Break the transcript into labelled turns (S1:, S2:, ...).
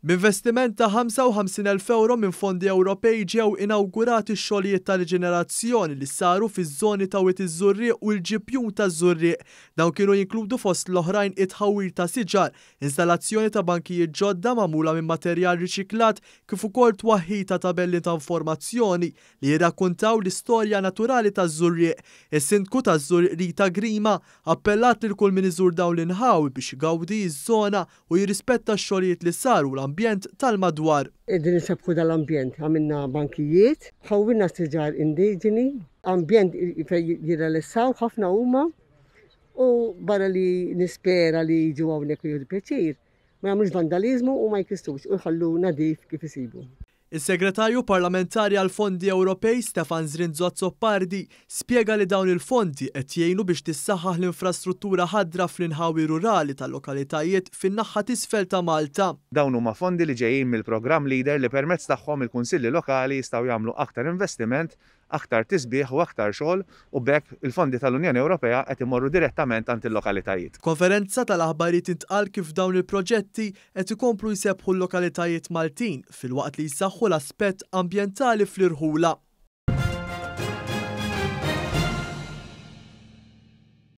S1: B'investiment ta' 55,000 ewro minn fondi Ewropej ġew inawgurati x-xogħlijiet ta' riġenerazzjoni li saru fiż-żoni ta' Wied iż-Żurrieq u l-Ġibjun taż-Żurrieq. Dawn kienu jinkludu fost l-oħrajn it-tħawwil ta' siġar, installazzjoni ta' bankijiet ġodda magħmula minn materjal riċiklat kif ukoll twaħħil ta' tabelli ta' informazzjoni li jirrakkuntaw l-istorja naturali taż-Żurrieq. Is-Sindku taż-Żurrieq Rita Grima appellat lil kull min iżur dawn l-inħawi biex igawdi ż-żona u jirrispetta x-xogħlijiet li saru u l-ambjent tal-madwar.
S2: Qegħdin insebbħu dal-ambjent, għamilna bankijiet, ħawwilna siġar indiġeni, ambjent fejn jirrelissaw ħafna huma u barra li nispera li jiġu hawnhekk u jieħdu pjaċir, ma jagħmlux vandaliżmu u ma jkissrux u jħallu nadif kif isibu.
S1: Is-Segretarju Parlamentari għall-Fondi Ewropej Stefan Zrinzo Azzopardi spjega li dawn il-fondi qed jgħinu biex tissaħħaħ l-infrastruttura ħadra fl-inħawi rurali tal-lokalitajiet fin-naħha t'isfel ta' Malta.
S3: Dawn huma fondi li ġejjin mill-programm Leader li permezz tagħhom il-kunsilli lokali jistgħu jagħmlu aktar investiment aktar tisbiħ u aktar xogħol u b'hekk il-fondi tal-Unjoni Ewropea qed imorru direttament għand il-lokalitajiet.
S1: F'konferenza tal-aħbarijiet intqal kif dawn il-proġetti qed ikomplu jsebbħu l-lokalitajiet Maltin filwaqt li jsaħħu l-aspett ambjentali fl-irħula.